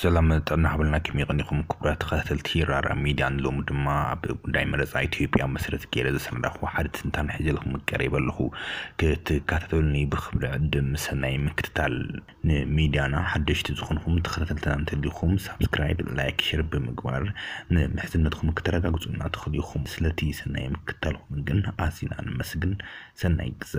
ሰላም ጥዕና ሃበልና፣ ከመይ ቀኒኹም ክቡራት ተኸታተልቲ ራራ ሚድያ? ሎሚ ድማ ኣብ ጉዳይ መረፃ ኢትዮጵያ መሰረት ገይረ ዘሰናዳኹ ሓደ ትንታን ሒዘልኩም ቀሪበ ኣለኹ። ክትከታተሉኒ ብኽብሪ ዕድም ሰናይ ምክትታል። ንሚድያና ሓደሽቲ ዝኾንኹም ተኸታተልትና እንተሊኹም ሳብስክራይብ፣ ላይክ፣ ሼር ብምግባር ንምሕዝነትኩም ክተረጋግፁና ትኽእሉ ኢኹም። ስለቲ ሰናይ ምክትታልኩም ግን ኣዚና ንመስግን። ሰናይ ግዘ።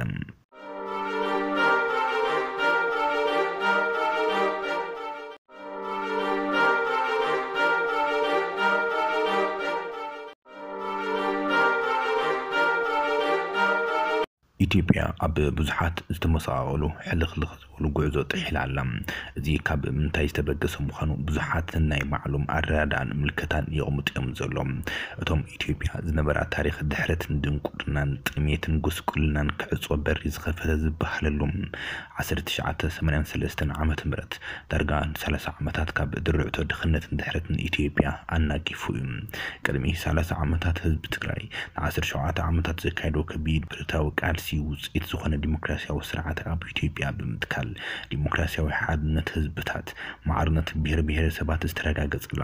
ኢትዮጵያ ኣብ ብዙሓት ዝተመሰቓቐሉ ሕልኽልኽ ዝበሉ ጉዕዞ ጥሒላ ኣላ። እዚ ካብ ምንታይ ዝተበገሰ ምዃኑ ብዙሓት ናይ ባዕሎም ኣረዳድኣን ምልከታን የቕምጡ እዮም ዘሎ። እቶም ኢትዮጵያ ዝነበራ ታሪኽ ድሕረትን ድንቁርናን ጥሜትን ጉስቁልናን ክዕጾ በሪ ዝኸፈተ ዝበሃለሉ ዓሰርተ ትሽዓተ ሰማንያን ሰለስተን ዓመተ ምህረት ዳርጋ ንሰላሳ ዓመታት ካብ ድርዕቶ ድኽነትን ድሕረትን ኢትዮጵያ ኣናጊፉ እዩ። ቅድሚ ሰላሳ ዓመታት ህዝቢ ትግራይ ንዓሰርተ ሸውዓተ ዓመታት ዘካየዶ ከቢድ ብረታዊ ቃልሲ ውፅኢት ዝኾነ ዲሞክራሲያዊ ስርዓት ኣብ ኢትዮጵያ ብምትካል ዲሞክራሲያዊ ሓድነት ህዝብታት፣ ማዕርነት ብሄር ብሄረሰባት ዝተረጋገፀላ፣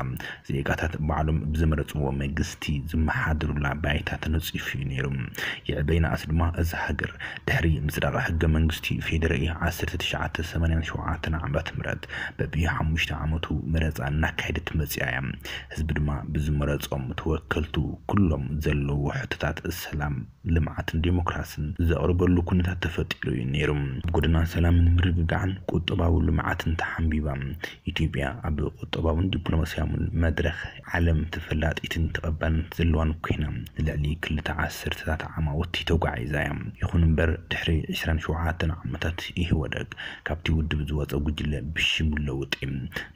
ዜጋታት ባዕሎም ብዝመረፅዎ መንግስቲ ዝመሓድሩላ ባይታ ተነፂፉ እዩ ነይሩ። ይዕበይ ንኣስ ድማ እዛ ሃገር ድሕሪ ምፅዳቕ ሕገ መንግስቲ ፌዴራኢ ዓሰርተ ትሽዓተ ሰማንያን ሸውዓተን ዓመተ ምህረት በብሓሙሽተ ዓመቱ መረፃ እናካየደት መፂኣ እያ። ህዝቢ ድማ ብዝመረፆም ተወከልቱ ኩሎም ዘለዎ ሕቶታት ሰላም፣ ልምዓትን ዴሞክራስን ዘቕርበሉ ኩነታት ተፈጢሩ እዩ ነይሩ። ኣብ ጎደና ሰላምን ምርግጋዕን ቁጠባዊ ልምዓትን ተሓንቢባ። ኢትዮጵያ ኣብ ቁጠባውን ዲፕሎማሲያውን መድረኽ ዓለም ተፈላጢትን ተቐባልነት ዘለዋን ኮይና፣ ንልዕሊ ክልተ ዓሰርተታት ዓማውቲ ተጓዒዛ እያ። ይኹን እምበር፣ ድሕሪ ዕስራን ሸውዓተን ዓመታት ኢህወደግ ካብቲ ውድብ ዝወጸ ጉጅለ ብሽም ለውጢ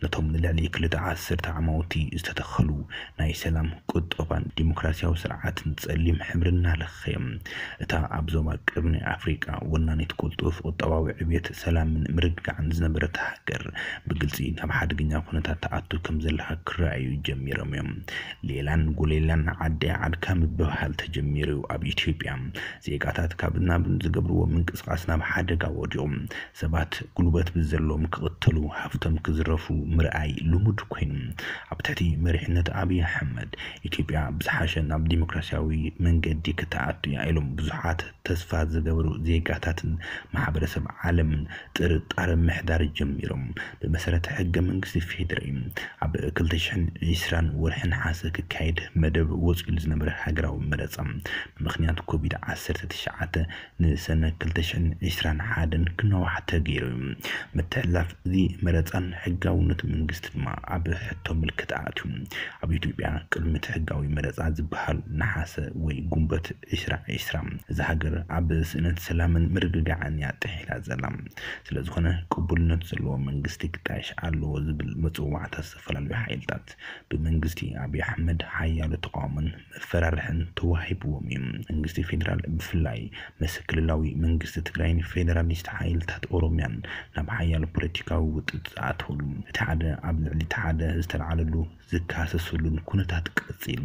ነቶም ንልዕሊ ክልተ ዓሰርተ ዓማውቲ ዝተተኸሉ ናይ ሰላም፣ ቁጠባን ዲሞክራሲያዊ ስርዓትን ጸሊም ሕብሪ እናለኸየ፣ እታ ኣብ ዞባ ቀርኒ ኣፍሪቃ ወናኒት ቅልጡፍ ቁጠባዊ ዕብየት፣ ሰላምን ምርግጋዕን ዝነበረት ሃገር ብግልጺ ናብ ሓደገኛ ኩነታት ትኣቱ ከም ዘላ ክረኣዩ ጀሚሮም እዮም። ሌላን ጎሌላን ዓደይ ዓድካ ምብህሃል ተጀሚሩ እዩ። ኣብ ኢትዮጵያ ዜጋታት ካብን ናብን ዝገብርዎ ምንቅስቓስ ናብ ሓደጋ ወዲቑ። ሰባት ጉልበት ብዘለዎም ክቕተሉ፣ ሃፍቶም ክዝረፉ ምርኣይ ልሙድ ኮይኑ። ኣብ ትሕቲ መሪሕነት ኣብይ ኣሕመድ፣ ኢትዮጵያ ብዝሓሸ ናብ ዲሞክራሲያዊ መንገዲ ክትኣቱ እያ ኢሎም ብዙሓት ተስፋ ዝገብሩ ዜጋታትን ማሕበረሰብ ዓለምን ጥርጣረ ምሕዳር ጀሚሮም። ብመሰረት ሕገ መንግስቲ ፌዴራል፣ ኣብ ክልተ ሽሕን ዕስራን ወርሒ ነሓሰ ክካየድ መደብ ወፂሉ ዝነበረ ሃገራዊ መረፃ፣ ብምኽንያት ኮቪድ ዓሰርተ ትሽዓተ ንሰነ ክልተ ሽሕን ዕስራን ሓደን ክናዋሕ ተገይሩ እዩ። ምትሕልላፍ እዚ መረፃን ሕጋውነት መንግስቲ ድማ ኣብ ሕቶ ምልክት ኣትዩ። ኣብ ኢትዮጵያ ቅድሚ እቲ ሕጋዊ መረፃ ዝበሃል ነሓሰ ወይ ጉንበት ዕስራ ዕስራ፣ እዛ ሃገር ኣብ ስእነት ሰላምን ምርግጋዕን እያ ጥሒላ ዘላ። ስለ ዝኾነ፣ ቅቡልነት ዘለዎ መንግስቲ ክጣየሽ ኣለዎ ዝብል መፅዋዕታ ዝተፈላለዩ ሓይልታት፣ ብመንግስቲ ኣብይ ኣሕመድ ሓያሎ ተቃውሞን መፈራርሕን ተዋሂብዎም እዩ። መንግስቲ ፌዴራል ብፍላይ ምስ ክልላዊ መንግስቲ ትግራይን ፌዴራሊስት ሓይልታት ኦሮሚያን ናብ ሓያሎ ፖለቲካዊ ውጥጥ ዝኣተወሉ፣ እቲ ሓደ ኣብ ልዕሊ እቲ ሓደ ዝተልዓለሉ ዝካሰሱሉን ኩነታት ቀጺሉ።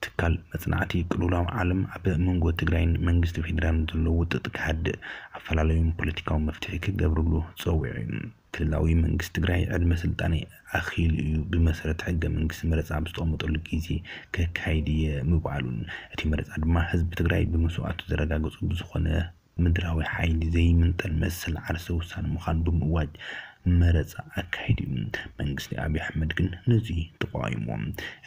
ትካል መጽናዕቲ ቅልውላው ዓለም ኣብ መንጎ ትግራይን መንግስቲ ፌዴራልን ዘሎ ውጥጥ ክሃድእ፣ ኣፈላለዮም ፖለቲካዊ መፍትሒ ክገብርሉ ጸዊዑ እዩ። ክልላዊ መንግስቲ ትግራይ ዕድመ ስልጣነይ ኣኺሉ እዩ፣ ብመሰረት ሕገ መንግስቲ መረጻ ኣብ ዝተቐመጠሉ ግዜ ከካይድ እየ ምባሉን፣ እቲ መረጻ ድማ ህዝቢ ትግራይ ብመስዋእቱ ዘረጋገጾ ብዝኾነ ምድራዊ ሓይሊ ዘይምንጠል መሰል ዓርሰ ውሳነ ምዃኑ ብምእዋጅ መረጻ ኣካይዱ እዩ። መንግስቲ ኣብይ ኣሕመድ ግን ነዚ ተቃዊምዎ።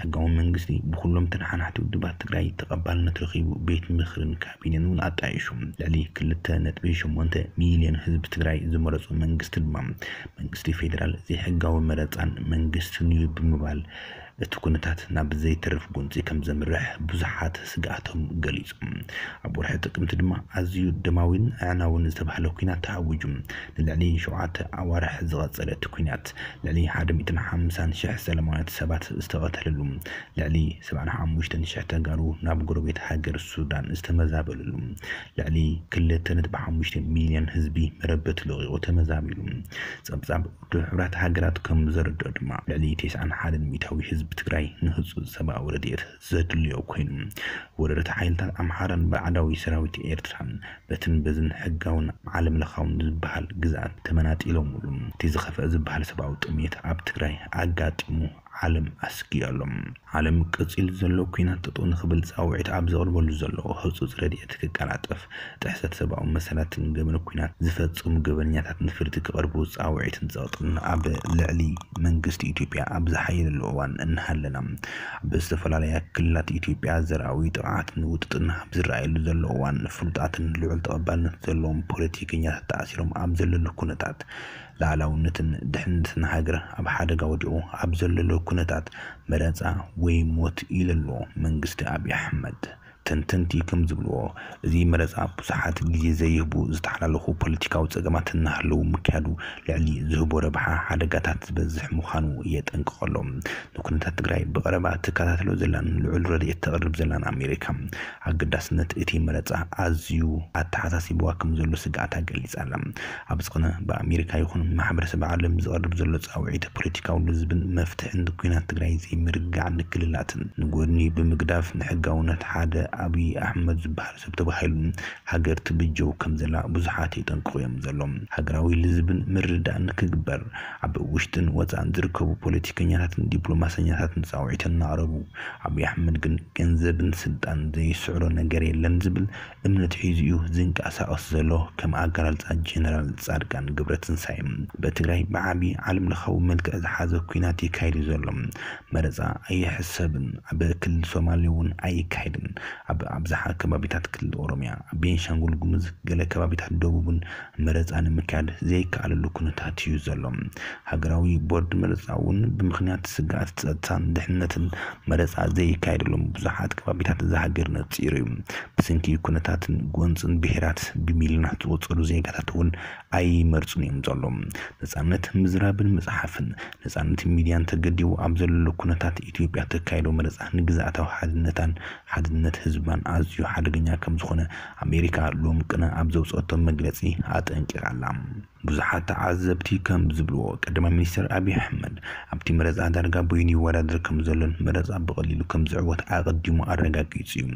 ሕጋዊ መንግስቲ ብኩሎም ተነሓናሕቲ ውድባት ትግራይ ተቐባልነት ረኺቡ፣ ቤት ምኽርን ካቢኔን እውን ኣጣይሹ። ልዕሊ ክልተ ነጥቢ ሸሞንተ ሚልዮን ህዝቢ ትግራይ ዝመረጾ መንግስቲ ድማ፣ መንግስቲ ፌዴራል ዘይሕጋዊ መረጻን መንግስትን እዩ ብምባል፣ እቲ ኩነታት ናብ ዘይተርፍ ጎንጺ ከም ዘምርሕ ብዙሓት ስግኣቶም ገሊጾም። ኣብ ወርሒ ጥቅምቲ ድማ ኣዝዩ ደማዊን ኣዕናውን ዝተባህለ ኲናት ተኣዊጁ። ንልዕሊ ሸውዓተ ኣዋርሕ ዝቐጸለ እቲ ኲናት፣ ልዕሊ ሓደ ሚእትን ሓምሳን ሽሕ ሰላማውያን ሰባት ዝተቐተለሉ፣ ልዕሊ ሰብዓን ሓሙሽተን ሽሕ ተጋሩ ናብ ጎረቤት ሃገር ሱዳን ዝተመዛበልሉ፣ ልዕሊ ክልተ ነጥቢ ሓሙሽተ ሚልዮን ህዝቢ መረበቲ ለቒቑ ተመዛቢሉ። ጸብጻብ ውድብ ሕቡራት ሃገራት ከም ዘረድኦ ድማ፣ ልዕሊ ተስዓን ሓደን ሚእታዊ ህዝቢ ብትግራይ ንህፁፅ ሰብኣዊ ረድኤት ዘድልዮ ኮይኑ፣ ወረርቲ ሓይልታት ኣምሓራን ባዕዳዊ ሰራዊት ኤርትራን በትን በዝን ሕጋውን ዓለም ለኻውን ዝበሃል ግዝኣት ተመናጢሎምሉ። እቲ ዝኸፍአ ዝበሃል ሰብኣዊ ጥሜት ኣብ ትግራይ ኣጋጢሙ ዓለም ኣስጊኡ ኣሎ። ዓለም ቀፂሉ ዘሎ ኲናት ጠጠው ንኽብል ፃውዒት ኣብ ዘቕርበሉ ዘሎ ህፁፅ ረድኤት ክቀላጠፍ፣ ጥሕሰት ሰብኣዊ መሰላትን ገበን ኲናት ዝፈፀሙ ገበነኛታት ንፍርዲ ክቐርቡ ፃውዒትን ፀቕጥን ኣብ ልዕሊ መንግስቲ ኢትዮጵያ ኣብ ዝሓየለሉ እዋን እናሃለና፣ ኣብ ዝተፈላለያ ክልላት ኢትዮጵያ ዘርኣዊ ጥቕዓትን ውጥጥን ኣብ ዝረኣየሉ ዘሎ እዋን፣ ፍሉጣትን ልዑል ተቐባልነት ዘለዎም ፖለቲከኛታት ተኣሲሮም ኣብ ዘለሉ ኩነታት፣ ሉዓላውነትን ድሕነትን ሃገር ኣብ ሓደጋ ወዲቑ ኣብ ዘለሉ ኩነታት፣ መረፃ ወይ ሞት ኢሉ ኣሎ መንግስቲ ኣብይ ኣሕመድ። ተንተንቲ ከም ዝብልዎ፣ እዚ መረፃ ብዙሓት ግዜ ዘይህቡ ዝተሓላለኹ ፖለቲካዊ ፀገማት እናሃለዉ ምክያዱ፣ ልዕሊ ዝህቦ ረብሓ ሓደጋታት ዝበዝሕ ምዃኑ የጠንቅቕ ኣሎ። ንኩነታት ትግራይ ብቐረባ ትከታተሎ ዘላን ልዑል ረድኤት ተቕርብ ዘላን ኣሜሪካ፣ ኣገዳስነት እቲ መረፃ ኣዝዩ ኣተሓሳሲብዋ ከም ዘሎ ስግኣታ ገሊጻ ኣላ። ኣብ ዝኾነ፣ ብኣሜሪካ ይኹን ማሕበረሰብ ዓለም ዝቐርብ ዘሎ ፃውዒት፣ ፖለቲካዊ ልዝብን መፍትሕን ንኲናት ትግራይ ዘይምርግጋዕ ንክልላትን ንጎድኒ ብምግዳፍ፣ ንሕጋውነት ሓደ ኣብይ ኣሕመድ ዝበሃል ሰብ ተባሂሉ ሃገር ትብጀው ከም ዘላ ብዙሓት የጠንቅቑ እዮም ዘለዉ። ሃገራዊ ልዝብን ምርድዳእን ክግበር፣ ኣብ ውሽጥን ወፃእን ዝርከቡ ፖለቲከኛታትን ዲፕሎማሰኛታትን ፃውዒት እናቕረቡ፣ ኣብይ ኣሕመድ ግን ገንዘብን ስልጣን ዘይስዕሮ ነገር የለን ዝብል እምነት ሒዙ እዩ ዝንቀሳቐስ ዘሎ። ከም ኣገላልፃ ጀነራል ፃድቃን ገብረትንሳኤ፣ በትግራይ ብዓቢ ዓለም ለኻዊ መልክዕ ዝሓዘ ኲናት ይካየድ እዩ ዘሎ። መረፃ ኣይሕሰብን፣ ኣብ ክልል ሶማሌ እውን ኣይካየድን። ኣብ ኣብዝሓ ከባቢታት ክልል ኦሮሚያ፣ ኣብ ቤንሻንጉል ጉሙዝ፣ ገለ ከባቢታት ደቡብን መረፃ ንምክያድ ዘይከኣለሉ ኩነታት እዩ ዘሎ። ሃገራዊ ቦርድ መረፃ እውን ብምኽንያት ስግኣት ፀጥታን ድሕነትን መረፃ ዘይካየደሎም ብዙሓት ከባቢታት እዛ ሃገር ነፂሩ እዩ። ብሰንኪ ኩነታትን ጎንፅን ብሄራት ብሚልዮናት ዝቑፀሩ ዜጋታት እውን ኣይመርፁን እዮም ዘሎ። ነፃነት ምዝራብን ምፅሓፍን፣ ነፃነት ሚድያን ተገዲቡ ኣብ ዘለሉ ኩነታት፣ ኢትዮጵያ ተካይዶ መረፃ ንግዝኣታዊ ሓድነታን ሓድነት ህዝባን ኣዝዩ ሓደገኛ ከም ዝኾነ ኣሜሪካ ሎም ቅነ ኣብ ዘውፀቶ መግለፂ ኣጠንቂቓ ኣላ። ብዙሓት ተዓዘብቲ ከም ዝብልዎ፣ ቀዳማይ ሚኒስትር ኣብይ ኣሕመድ ኣብቲ መረፃ ዳርጋ በይኑ ይወዳደር ከም ዘሎን መረፃ ብቐሊሉ ከም ዝዕወት ኣቐዲሙ ኣረጋጊጹ እዩ።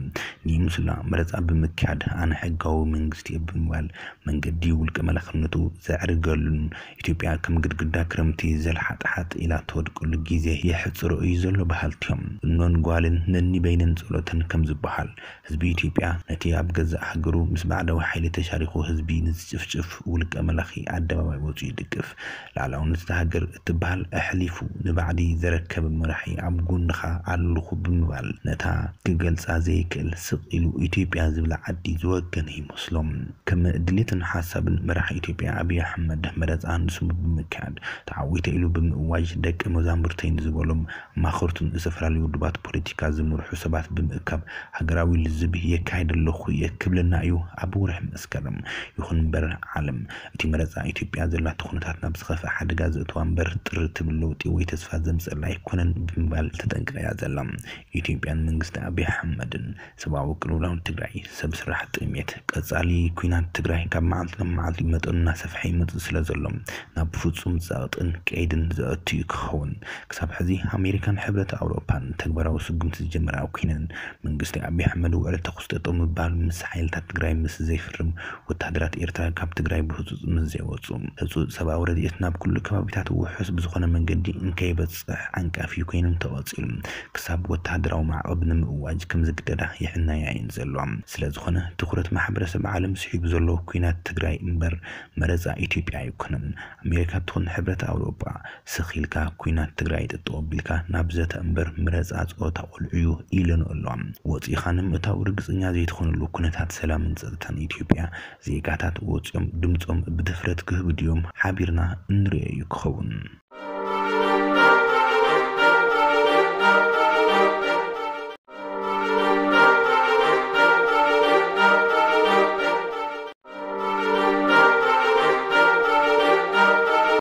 ንይምስላ መረፃ ብምክያድ ኣነ ሕጋዊ መንግስቲ እየ ብምባል መንገዲ ውልቀ መላኽነቱ ዘዕርገሉን፣ ኢትዮጵያ ከም ግድግዳ ክረምቲ ዘልሓጥሓጥ ኢላ ትወድቀሉ ግዜ የሕጽሮ እዩ ዘሎ በሃልቲ እዮም። እኖን ጓልን ነኒበይነን ጸሎተን ከም ዝበሃል፣ ህዝቢ ኢትዮጵያ ነቲ ኣብ ገዛእ ሃገሩ ምስ ባዕዳዊ ሓይሊ ተሻሪኹ ህዝቢ ንዝጭፍጭፍ ውልቀ መላኺ ኣደባባይ ወጺኡ ይድግፍ። ላዕላውነት እታ ሃገር እትበሃል ኣሕሊፉ ንባዕዲ ዘረከበ መራሒ ኣብ ጎንኻ ኣለኹ ብምባል ነታ ክገልጻ ዘይክእል ስቕ ኢሉ ኢትዮጵያ ዝብላ ዓዲ ዝወገነ ይመስሎም። ከም ድሌትን ሓሳብን መራሒ ኢትዮጵያ ኣብይ ኣሕመድ መረጻ ንስሙ ብምክያድ ተዓዊተ ኢሉ ብምእዋጅ ደቂ መዛሙርተይ ንዝበሎም ማኸርቱን ዝተፈላለዩ ውድባት ፖለቲካ ዝምርሑ ሰባት ብምእካብ ሃገራዊ ልዝብ የካይድ ኣለኹ እየ ክብለና እዩ ኣብ ወርሒ መስከረም። ይኹን እምበር ዓለም እቲ መረጻ ኢትዮጵያ ዘላቶ ኩነታት ናብ ዝኸፍአ ሓደጋ ዘእትዋ እምበር ጥር ትብል ለውጢ ወይ ተስፋ ዘምጽኣላ ኣይኮነን ብምባል ተጠንቂቓ እያ ዘላ። ኢትዮጵያን መንግስቲ ኣብይ ኣሕመድን ሰብኣዊ ቅልውላው ትግራይ፣ ሰብ ስራሕ ጥሜት፣ ቀጻሊ ኲናት ትግራይ ካብ መዓልቲ ናብ መዓልቲ መጠኑ እናሰፍሐ ይመጽእ ስለ ዘሎ ናብ ፍጹም ጸቕጥን ቀይድን ዘእቱ እዩ ክኸውን። ክሳብ ሕዚ ኣሜሪካን ሕብረት ኣውሮፓን ተግባራዊ ስጉምቲ ዝጀመራ ኮይነን፣ መንግስቲ ኣብይ ኣሕመድ ውዕል ተኹሲ ጠጠው ምባል ምስ ሓይልታት ትግራይ ምስ ዘይፍርም፣ ወታደራት ኤርትራ ካብ ትግራይ ብህጹጽ ምስ ዘይወጹ፣ ህጹጽ ሰብኣዊ ረድኤት ናብ ኩሉ ከባቢታት ውሑስ ብዝኾነ መንገዲ እንከይበጽሕ ዓንቃፊ ኮይኖም ተቐጺሉ። ክሳብ ወታደራዊ ማዕቐብ ንምእዋጅ ከም ዝግደዳ ይሕነያ እየን ዘለዋ። ስለ ዝኾነ ትኹረት ማሕበረሰብ ዓለም ስሒቡ ዘሎ ኲናት ትግራይ እምበር መረጻ ኢትዮጵያ ኣይኮነን። ኣሜሪካ ትኹን ሕብረት ኣውሮጳ ስኽ ኢልካ ኲናት ትግራይ ጠጠው ኣቢልካ ናብ ዘተ እምበር መረጻ ጸወታ ቆልዑ እዩ ኢለን ኣለዋ። ወጺኻ ንምእታው ርግጸኛ ዘይትኾነሉ ኩነታት ሰላምን ጸጥታን ኢትዮጵያ ዜጋታት ወጺኦም ድምጾም ብድፍረት ክህቡ ድዮም? ሓቢርና እንርእዮ እዩ ክኸውን።